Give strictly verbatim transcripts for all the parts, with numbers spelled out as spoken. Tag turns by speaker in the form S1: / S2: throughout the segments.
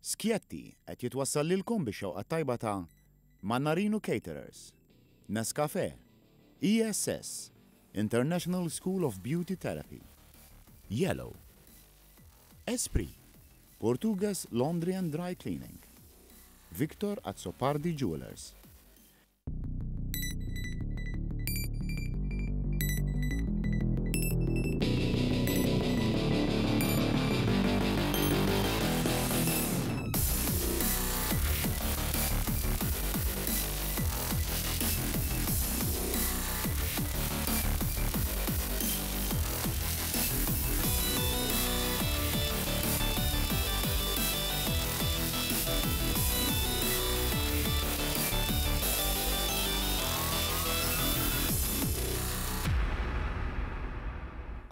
S1: Skjetti qed jitwassal lilkom bix-xewqa tajba ta' Mannarino Caterers, Nescafe, E S S, International School of Beauty Therapy, Yellow, Esprit, Portuguese Laundry and Dry Cleaning, Victor Azzopardi Jewelers.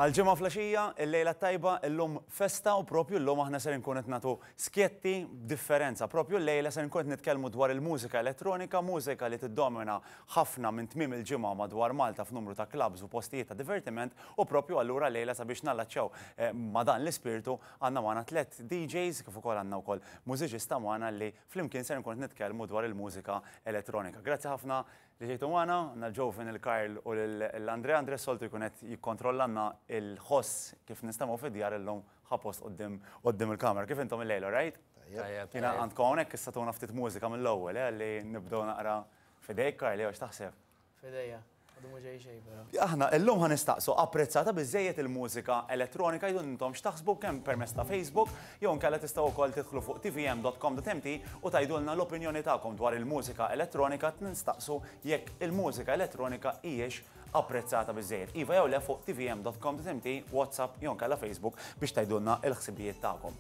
S2: Għal-Ġimgħa filgħaxija, il-lejla tajba, illum festa u propju llum aħna ser nkun qed nagħtu skjetti b'differenza. Propju l-lejla ser nkun qed nitkellmu dwar il-mużika elettronika, mużika li tiddomina ħafna minn tmiem il-ġimgħa madwar Malta f'numru ta' clubs u postijiet ta' divertiment, u propju allura lejla, sabiex nallaċċew eh, ma' dan l-ispirtu, għandna magħna tliet D Js kif ukoll għandna wkoll mużiċista magħna li flimkien ser nkun qed nitkellmu dwar il-mużika elettronika. Grazzi ħafna li ġejtu magħna, għandna l-Ġovin, il-Karl u l-Andre. Andre soltu jkun qed jikkontrollanna il-ħoss kif nistemgħu fid-djar, illum ħa post quddiem quddiem il-kamera. Kif intom il-lejla, right?
S3: Tajjeb.
S2: Jiena għandkom hawnhekk issa tuna ftit mużika mill-ewwel, eh, li nibdew naqra fidejk, Karl, jew x'taħseb?
S4: Fidejja, għadu mhu ġej xejn, però.
S2: Aħna illum ħa nistaqsu: apprezzata biżejjed il-mużika elettronika? Jdu intom x'taħsbu, kemm permezz ta' Facebook jew inkella tistgħu wkoll tidħlu fuq T V M dot com dot M T u tgħidulna l-opinjoni tagħkom dwar il-mużika elettronika. Nistaqsu jekk il-mużika elettronika hijiex apprezzata biżejjed. Iva jew le, fuq T V M dot com dot M T, WhatsApp jew inkella Facebook biex tgħidulna l-ħsibijiet tagħkom.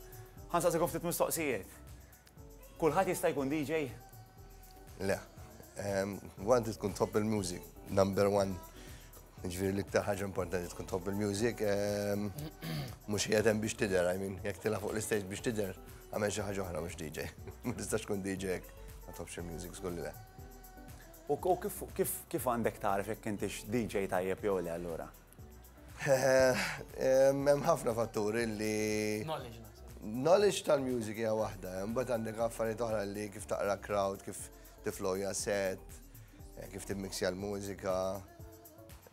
S2: Ħa nsaqsikom ftit mistoqsijiet. Kulħadd jista' jkun D J?
S3: Le. One, tkun tħobb il-music, number one. Ġifieri l-iktar ħaġa importanti tkun tħobb il-music, mhux qiegħed hemm biex tidher, I mean, jekk tila fuq l-istage biex tidher, għamel xi ħaġa oħra mhux D J. Ma tistax tkun D J jekk ma tħobbx il-music, żgur li le.
S2: U u kif kif kif għandek tarif jekk intix D J tajjeb jew le allura?
S3: Hemm ħafna fatturi li
S4: Knowledge naħseb.
S3: Knowledge tal-music hija waħda, imbagħad għandek affarijiet oħra li kif taqra crowd, kif tiflowja set, eh, kif timmixja l-mużika.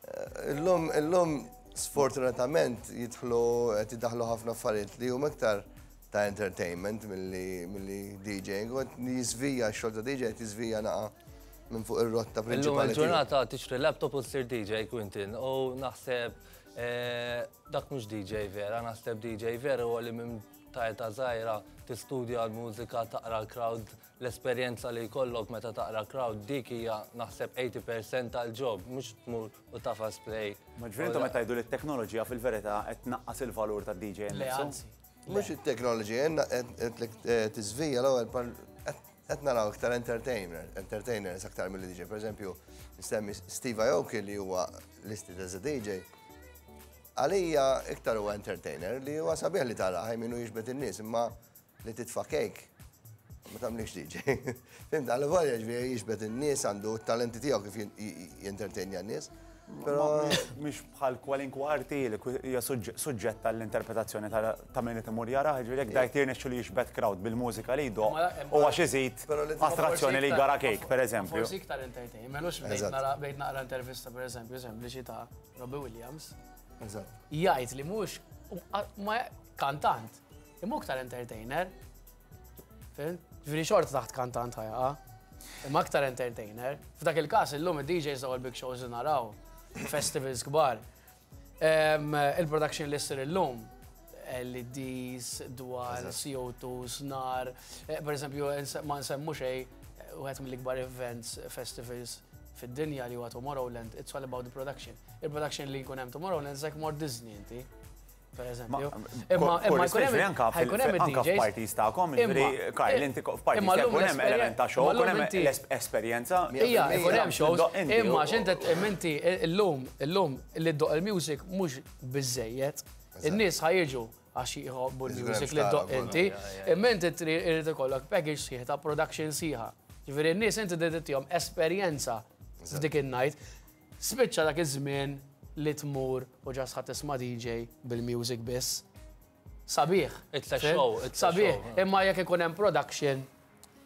S3: Eh, Illum, illum sfortunatament jidħlu qed jiddaħlu ħafna affarijiet li huma iktar ta' entertainment milli milli D J-ing, u qed jiżvija x-xogħol ta' D J, qed jiżvija naqa minn fuq ir-rotta
S5: Illum
S3: prinċipali tiegħu.
S5: Il-ġurnata tixtri laptop u tsir D J, Quintin, u naħseb eh, dak mhux D J vera. Naħseb D J vera huwa li minn ta' età żgħira tistudja l-mużika, taqra l-crowd, l-esperjenza li jkollok meta taqra crowd, dik hija naħseb tmenin fil-mija tal-job, mhux tmur u tagħfas play.
S2: Ma ġifieri intom qed tgħidu li t-teknoloġija fil-verità qed tnaqqas il-valur tad-D J
S4: Le,
S2: nnifsu?
S4: anzi.
S3: Mhux it-teknoloġija, qed tiżvija l-ewwel, qed naraw iktar entertainer, entertainers aktar mill D J. Per eżempju, nsemmi Steve Aoki li huwa listed as a D J. Għalija iktar huwa entertainer li huwa sabiħ li tara minu jiġbed in-nies, imma li titfa' cake ma tagħmlix D J. Fhimt, għal volja ġifieri jiġbed in-nies, għandu t-talenti tiegħu kif jentertenja n-nies. Però
S2: Mhix bħal kwalinkwa arti li hija suġġett tal-interpretazzjoni ta' min imur jara, ġifieri jekk dajt jirnexxu li jiġbed crowd bil-mużika li jdoqq u għax iżid attrazzjoni li jgara cake, per eżempju.
S4: Forsi iktar entertainment, mhux bdejt naqra intervista, per eżempju, sempliċi ta' Robbie Williams. Jgħid li mhux ma kantant, imma iktar entertainer. Ġifieri xorta taħt kantant ħa jaqa'. Imma aktar entertainer. F'dak il-każ illum id-D Js daw il-big shows li naraw, festivals kbar. Il-production li ssir illum, L E Ds, dwar C O two, snar, eh, per eżempju, ma nsemmu xej, wieħed mill-ikbar events, festivals fid-dinja li huwa Tomorrowland, it's all about the production. Il-production li jkun hemm Tomorrowland, like more Disney inti, per eżempju.
S2: Imma imma jkun hemm jkun hemm anka f'parties tagħkom, ġifieri Karl, inti f'parties jkun hemm element ta' show, jkun hemm esperjenza.
S4: Ija, jkun hemm shows, imma x'inti inti illum illum li ddoqq il-music mhux biżejjed. In-nies ħa jiġu għax jħobbu l-music li ddoqq inti, imma inti trid ikollok package sħiħ ta' production sħiħa. Ġifieri n-nies inti trid esperjenza f'dik in-night. Spiċċa dak iż-żmien li tmur u just ħa tisma' D J bil-music biss. Sabiħ.
S5: It's a show, it's a
S4: Sabiħ,
S5: show.
S4: Imma jekk ikun hemm production,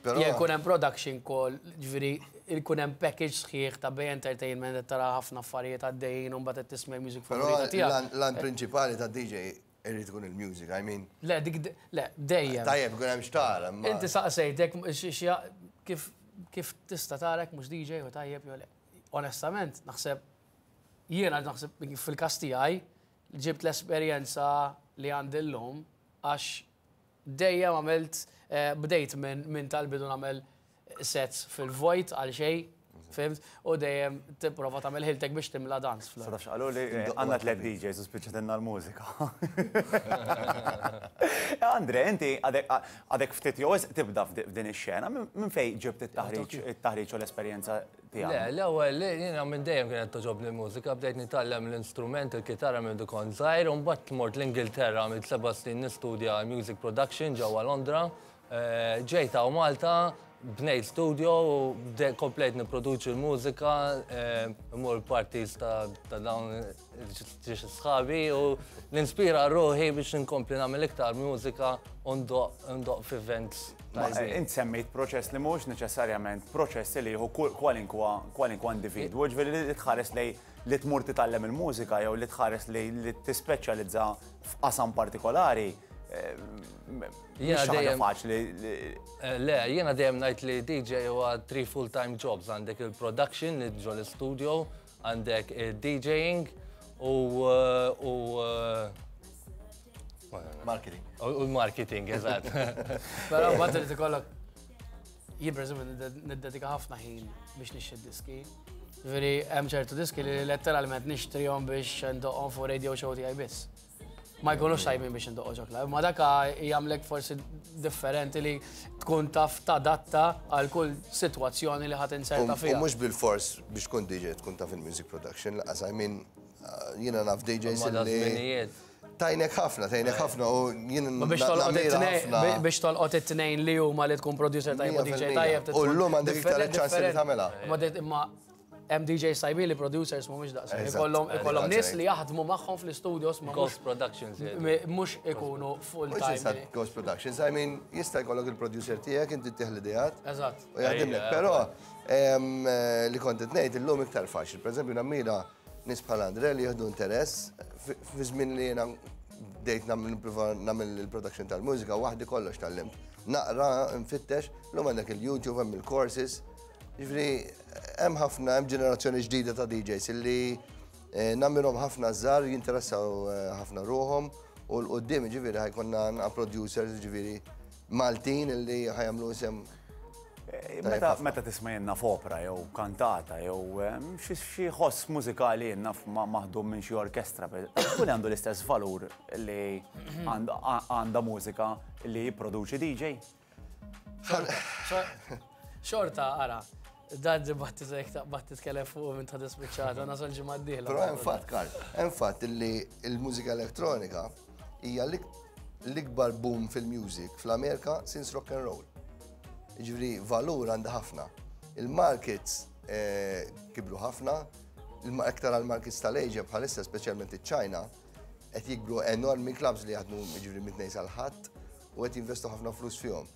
S3: Però-
S4: jekk ikun hemm production call, ġifieri ikun hemm package sħiħ ta' bej entertainment qed tara ħafna affarijiet għaddejjin u mbagħad qed tisma' music
S3: Però
S4: favorita tiegħek.
S3: l-għan prinċipali ta' D J irrid ikun il-music, I mean,
S4: Le, dik le, dejjem.
S3: Tajjeb ikun hemm xtara, imma.
S4: Inti saqsejtek xi- kif kif tista' tarek mhux D J u tajjeb jew le. Onestament, naħseb jiena naħseb fil-każ tiegħi ġibt l-esperjenza li għandi llum għax dejjem għamilt eh, bdejt minn min tal-bidu nagħmel sets fil-vojt għal xejn, fhimt, u dejjem tipprova tagħmel ħiltek biex timla dance floor.
S2: Sa tafx qalu li eh, għandna tliet D Js u spiċċatilna l-mużika. Andre, inti għadek għadek ftit jew wisq tibda f'di- f'din ix-xena, minn minn fejn ġibt it-taħriġ it-taħriġ u l-esperjenza
S5: Le,
S2: tiegħek?
S5: L-ewwel jiena minn dejjem kienet togħġobni l-mużika, bdejt nitgħallem l-instrument, il-kitarra minn kont żgħir, u mbagħad mort l-Ingilterra minn seba' snin nistudja music production ġewwa Londra. Eh, Ġejt hawn Malta, bnejt studio u bde- komplejt nipproduċi l-mużika, eh, mmur parties ta' ta' dawn ġiex sħabi u ninspira ruħi biex nkompli nagħmel iktar mużika u ndoqq ndoqq f'events
S2: Ma, eh,
S5: tajbin.
S2: Int semmejt proċess li mhux neċessarjament proċess li jieħu kull- kwalinkwa kwalinkwa individwu, ġifieri li tħares lej li tmur titgħallem il-mużika jew li tħares li li tispeċjalizza f'qasam partikolari. eh, m-
S5: Jiena
S2: Mhix xi ħaġa
S5: dejjem-
S2: faċli li-
S5: Eh, Le, jiena dejjem ngħid li D J huwa three full-time jobs. Għandek il-production li ġo l-studio, għandek il-D Jing u eh, u eh,
S3: Marketing.
S5: u l-marketing, eżatt.
S4: Però mbagħad irid ikollok, jien pereżempju niddedika ħafna ħin biex nixtri diski. Veri hemm ċertu diski li letteralment nixtrihom biex ndoqqhom fuq radio show tiegħi biss. Ma jkunux tajbin biex ndoqqu ġo club, ma daka jagħmlek forsi differenti li tkun taf tadatta għal kull sitwazzjoni li ħadd inserta
S3: U
S4: fiha.
S3: mhux bil-fors biex tkun D J tkun taf il-music production, laqas, I mean, uh, jiena naf D Js
S5: Ma da
S3: li
S5: żminijiet.
S3: Tajnek ħafna, tajnek ħafna u jiena
S4: Ma biex tolqot
S3: nammira
S4: it-tnejn
S3: ħafna.
S4: biex tolqot it-tnejn li huma li tkun producer tajjeb u D J tajjeb.
S3: U llum għandek iktar ċans li tagħmilha.
S4: Ma det- imma hemm D J tajbin li producers mhumiex daqshekk.
S3: Eżatt.
S4: Ikollhom ikollhom nies
S3: Eżatt.
S4: li jaħdmu magħhom fl-studios ma mhux
S5: Ghost Productions. jgħidu.
S4: mhux ikunu full
S3: Mhux
S4: time.
S3: insat Ghost Productions, I mean, jista' jkollok il-producer tiegħek, inti tieħ l-ideat.
S4: Eżatt.
S3: U jaħdimlek,
S5: Ejja,
S3: però em, eh, li kont qed ngħid illum iktar faċli. Per eżempju, nammira nies bħal Andre li jieħdu interess fi fi żmien li jiena bdejt nagħmel nipprova nagħmel il-production tal-mużika waħdi kollox tgħallimt. Naqra, nfittex, llum għandek il-YouTube, hemm il-courses. Ġifieri hemm ħafna, hemm ġenerazzjoni ġdida ta' D Js illi eh, nammirhom ħafna żgħar jinteressaw eh, ħafna ruħhom u 'l quddiem ġifieri ħa jkollna naqra producers ġifieri Maltin illi ħa jagħmlu isem.
S2: Eh, Meta meta tisma' jenna f'opera jew kantata jew eh, xi xi ħoss mużikali jenna ma- maħdum minn xi orkestra, per- kull għandu l-istess valur li għand- għandha mużika li jipproduċi D J.
S4: Xorta, ara, dan dibattitu jekk taqbad titkellem fuq minn ta' dispiċċata, nasal ġimgħa d-dieħla.
S3: Però hemm fatt, Karl, hemm fatt illi il-mużika elettronika hija l-ik- l-ikbar boom fil-music fl-Amerika since rock and roll. Ġifieri valur għandha ħafna. Il-markets eh, kibru ħafna, il- iktar għal-markets tal-Asia bħalissa, speċjalment iċ-China, qed jikbru enormi clubs li jaħdmu ġifieri mit-tnejn sal-Ħadd u qed jinvestu ħafna flus fihom.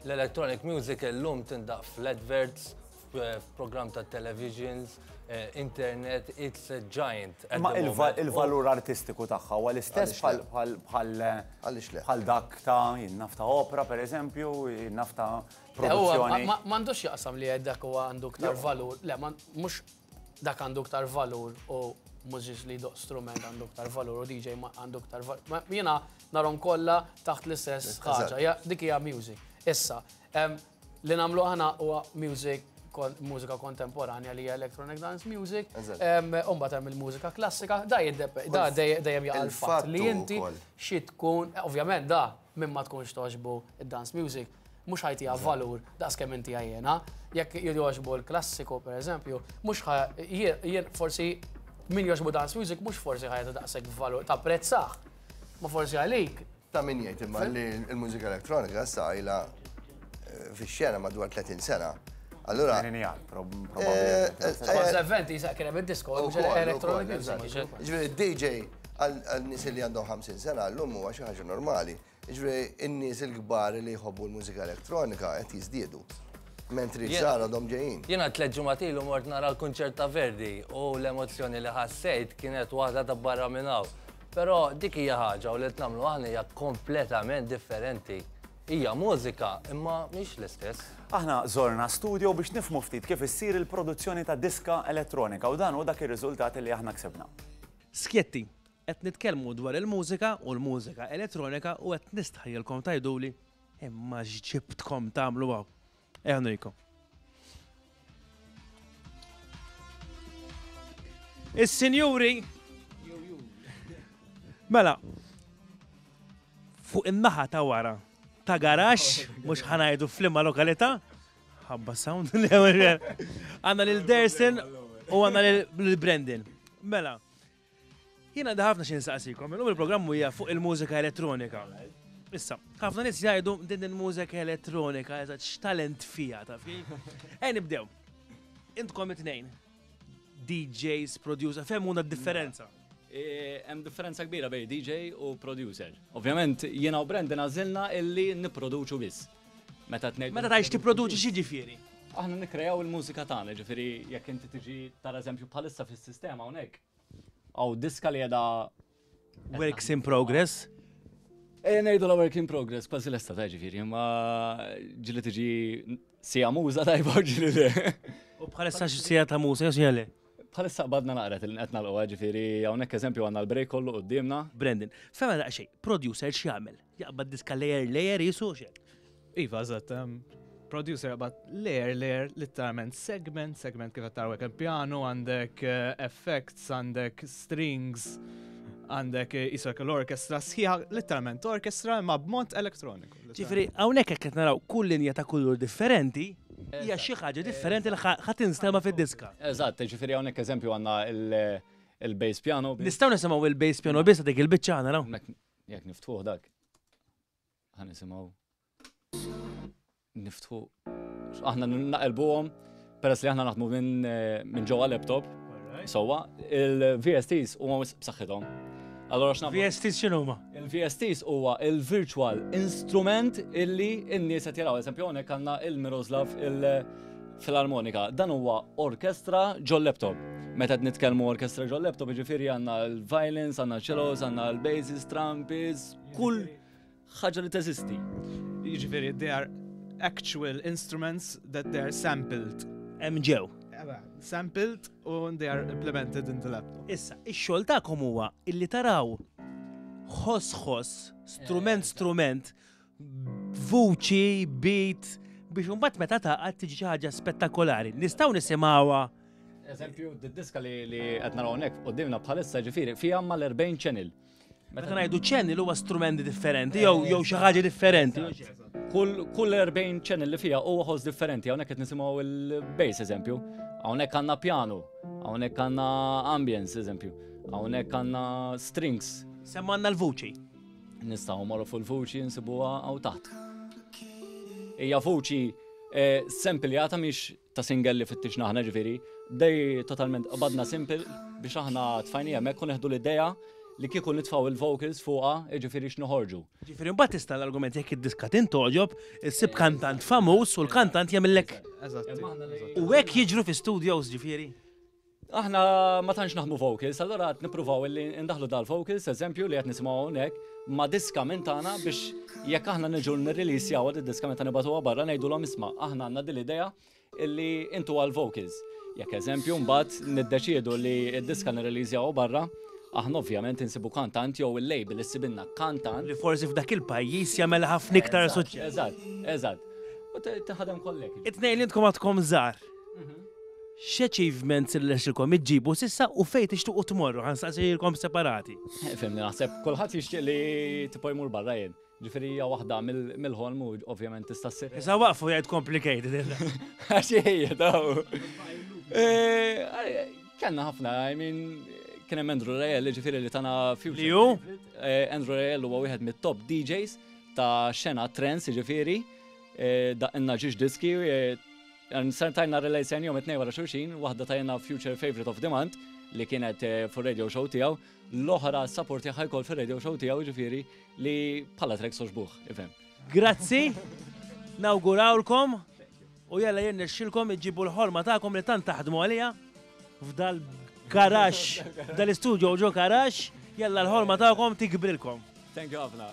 S5: L-electronic music illum tindaqq fl-adverts, f'program ta' televisions, eh, internet, it's a giant at
S2: Ma
S5: the
S2: il-va-
S5: moment.
S2: il-valur artistiku tagħha huwa l-istess
S3: Għaliex le?
S2: bħal bħal bħal
S3: Għaliex le?
S2: bħal dak ta' jinnaf ta' opera per eżempju, jinnaf ta'
S4: Huwa
S2: produzzjoni.
S4: ma- m'għandux jaqsam li dak huwa għandu ktar valur. Le, ma- mhux dak għandu ktar valur u mużiċ li jdoqq strument għandu ktar valur u D J ma għandu ktar valur. Ma Jiena narhom kollha taħt l-istess ħaġa. Ja, dik hija music. Issa, em, li nagħmlu aħna huwa music kon, mużika kontemporanja li hija electronic dance music,
S3: Eżatt.
S4: em, u mbagħad hemm il-mużika klassika, da jiddepe- da dej- dejjem jaqa' l-fatt li
S3: Il-fattu
S4: inti
S3: wkoll.
S4: xi tkun, ovvjament da minn ma tkunx togħġbu id-dance music, mhux ħa jtiha valur daqs kemm inti għajjena. Jekk jogħġbu l-klassiku, per eżempju, mhux ħa jien jien forsi min jogħġbu dance music mhux forsi ħa jagħti daqshekk valur tapprezzah. Ma forsi għalik
S3: Ta' min jgħid imma li l-mużika elettronika issa ilha eh, fix-xena madwar tletin sena. Allura,
S2: Tmeninijat, prob-
S3: eh,
S2: probabbli.
S3: eh,
S4: kont eventi jisaq kien hemm id-disco,
S3: u
S4: mhux
S3: koll,
S4: electronic
S3: u koll,
S4: music.
S3: eżatt. Ġifieri D J Għal nies li għandhom ħamsin sena llum huwa xi ħaġa normali. Jiġifieri n-nies il-kbar li jħobbu l-mużika elettronika qed jiżdiedu. Mentri żgħar għadhom ġejjin.
S5: Jiena tliet ġimgħat ilu mort nara l-kunċert ta' Verdi u l-emozzjoni li ħassejt kienet waħda ta' barra minn hawn. Però dik hija ħaġa u li qed nagħmlu aħna hija kompletament differenti. Hija mużika, imma mhix l-istess.
S2: Aħna żorna studio biex nifhmu ftit kif issir il-produzzjoni ta' diska elettronika u dan hu dak ir-riżultat li aħna ksebna.
S6: Skjetti, qed nitkellmu dwar il-mużika u l-mużika elettronika u qed nistħajjilkom tgħiduli imma x'ġibtkom tagħmlu hawn. Ejja nurikom. Is-sinjuri mela fuq in-naħa ta' wara ta' garax, mhux ħanajdu f'liema lokalità, ħabba sound għandna lil Dersin u għandna lil Brandon. Mela, jiena għandi ħafna xi nsaqsikom, illum il-programm hija fuq il-mużika elettronika. Issa, ħafna nies jgħidu din il-mużika elettronika, eżatt x'talent fiha, taf kif? Ejja nibdew. Intkom it-tnejn, D Js, producer, fehmuna d-differenza.
S7: Hemm differenza kbira bejn D J u producer. Ovvjament jiena u Brandon għażilna illi nipproduċu biss. Meta tnejn
S6: Meta tgħix tipproduċi x'jiġifieri?
S7: Aħna nikkrejaw il-mużika tagħna, ġifieri jekk inti tiġi tara eżempju bħalissa fis-sistema hawnhekk. Hawn diska li qiegħda
S6: Works in progress.
S7: E ngħidu la work in progress, kważi lesta ta' ġifieri, imma ġieli tiġi sija muża tajba u ġieli le.
S6: U bħalissa xi sija ta' muża jew sija le?
S7: Bħalissa qbadna naqra li qed nagħlquha, ġifieri hawnhekk eżempju għandna l-break kollu quddiemna.
S6: Brandon, fema daqsxejn, producer x'jagħmel? Jaqbad diska layer layer jisu xejn?
S8: Iva, eżatt, em, producer jaqbad layer layer, literalment segment, segment kif qed taraw hekk il-piano, għandek, eh, effects, għandek strings, għandek, eh, isek l-orkestra sħiħa, literalment orkestra imma b'mod elettroniku.
S6: Ġifieri hawnhekk hekk qed naraw kull linja ta' kulur differenti, hija xi ħaġa differenti li ħa-, ħa tinstema' fid-diska.
S7: Eżatt, ġifieri hawnhekk eżempju għandna il-, il-bass piano.
S6: Nistgħu nisimgħu il-bass piano biss dik il-biċċa għandna naraw.
S7: Hemmhekk jekk niftħuh dak. Ħa nisimgħu. Niftħu. Aħna naqilbuhom peress li aħna naħdmu minn, minn ġewwa laptop. Sewwa, il-V S Ts huma wisq b'saħħithom. Allora x'nagħmlu?
S6: V S Ts x'inhuma?
S7: Il-V S Ts huwa il-virtual instrument illi n-nies qed jaraw. Eżempju hawnhekk għandna il-Miroslav il-filarmonika. Dan huwa orkestra ġol laptop. Meta qed nitkellmu orkestra ġol laptop, jiġifieri għandna l-violins, għandna cellos, għandna l-basses, trumpets, kull ħaġa li teżisti.
S8: Jiġifieri they are actual instruments that they are sampled.
S6: Hemm ġew.
S8: Sampled u they are implemented in the laptop.
S6: Issa, ix-xogħol tagħkom huwa illi taraw ħoss ħoss, strument strument, vuċi, beat, biex imbagħad meta taqgħod tiġi xi ħaġa spettakolari. Nistgħu nisimgħuha.
S7: Eżempju, d-diska li, li qed naraw hawnhekk quddiemna bħalissa ġifieri fiha mal-erbgħin channel.
S6: Meta ngħidu channel huwa strumenti differenti jew jew xi ħaġa differenti.
S7: Kull, kull erbgħin channel li fiha huwa ħoss differenti. Hawnhekk qed nisimgħu il-bass eżempju, hawnhekk għandna piano, hawnhekk għandna ambience eżempju, hawnhekk għandna strings.
S6: Semma għandna l-vuċi.
S7: Nistgħu mmorru fuq il-vuċi nsibuha hawn taħt. Hija vuċi, eh, sempliata mhix ta' single li fittixna aħna ġifieri, dej totalment qbadna simple biex aħna tfajnija hemmhekk u neħdu l-idea li kieku nitfgħu il-vocals fuqha, jiġifieri x'noħorġu.
S6: Ġifieri mbagħad tista' l-argument jekk id-diska tintoġob, issib kantant famuż u l-kantant jagħmillek.
S8: Eżatt.
S6: U hekk jiġru fi studios ġifieri.
S7: Aħna ma tantx naħdmu vocals, allura qed nippruvaw illi ndaħlu dal-vocals, eżempju li qed nisimgħu hawnhekk, ma' diska minn tagħna biex jekk aħna niġu nirreleasjaw id-diska meta nibagħtuha barra ngħidulhom isma' aħna għandna din l-idea illi intu għal-vocals. Jekk eżempju mbagħad niddeċiedu li d-diska nirreleasjaw barra, aħna ovvjament insibu kantant jew il-label issibilna kantant.
S6: Li forsi f'dak il-pajjiż jagħmel ħafna iktar
S7: Eżatt,
S6: suċċess.
S7: Eżatt, eżatt. U te-, teħadem kollek.
S6: It-tnejn li intkom għadkom żgħar. X'achievements li lexilkom iġġibu sissa u fejn tixtuqu tmorru, ħansaqsilkom separati.
S7: Eh, fimni, naħseb kulħadd jixtieq li tipo jmur barra jien. Ġifieri hija waħda mill-, mill-ħolm u ovvjament tista' ssir.
S6: Issa waqfu jgħid complicated.
S7: Għax hija daw. Eh, kellna ħafna, I mean, kien hemm Andrew Rayel, ġifieri li tana future.
S6: Li hu?
S7: Eh, Andrew Rayel huwa wieħed mit-top D Js ta' xena trance, ġifieri, eh, daqqinna ġiex diski, eh, Ser tajna relejsen jom it-tnejn wara xulxin, waħda tajna Future Favorite of the Month, li kienet fuq radio show tiegħu, l-oħra support tagħha jkoll fir-radio show tiegħu, ġifieri li bħala tracks għoġbuh, ifhem.
S6: Grazzi, nawgurawlkom u jalla jirnexxilkom iġibu l-ħolma tagħkom li tant taħdmu għalija f'dal garax, dal-istudio ġo garax, jalla l-ħolma tagħkom tikbrilkom.
S7: Thank you ħafna.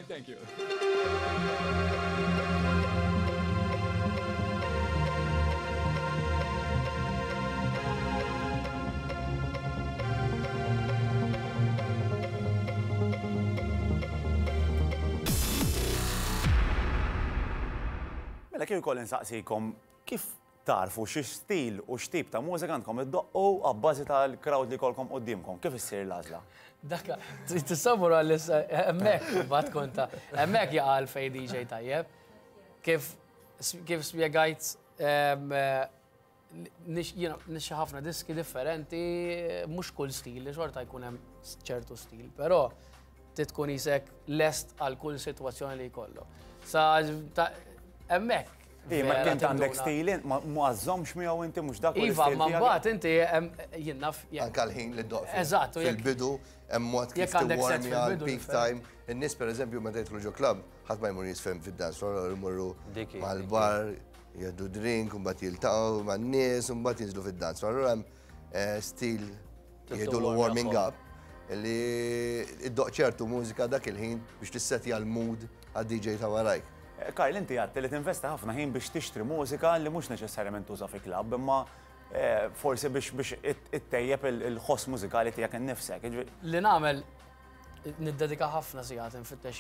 S7: Thank you.
S2: Mela kif ukoll insaqsikom kif tarfu xi stil u x'tip ta' mużika għandkom iddoqqu abbażi tal-crowd li jkollkom quddiemkom, kif issir l-għażla?
S4: Dakka, tissabur għal hemmhekk imbagħad konta, hemmhekk jaqa' għalfejn D J tajjeb. Kif kif spjegajt jiena nixxi ħafna diski differenti, mhux kull stil, xorta jkun hemm ċertu stil, però tkun isek lest għal kull sitwazzjoni li jkollu. Sa hemmhekk.
S2: Ma kien għandek stil, ma għażżomx miegħu inti mhux dak.
S4: Iva, ma mbagħad inti jien naf.
S3: Anke l-ħin li ddoq.
S4: Eżatt,
S3: fil-bidu hemm mod kif tiwarmja l-peak time. In-nies pereżempju meta jidħlu ġo club, ħadd ma jmur jisfem fid-dance floor, imorru mal-bar, jgħaddu drink, u mbagħad jiltaqgħu man-nies, u mbagħad jinżlu fid-dance floor. Allura hemm stil jgħidulu warming up li iddoq ċertu mużika dak il-ħin biex tissetja l-mood għad-D J ta' warajk.
S2: Karl, inti għadt li tinvesta ħafna ħin biex tixtri mużika li mhux neċessarjament tuża fi klabb, imma forsi biex biex ittejjeb il-ħoss mużikali tiegħek innifsek.
S4: Li nagħmel niddedika ħafna sigħat infittex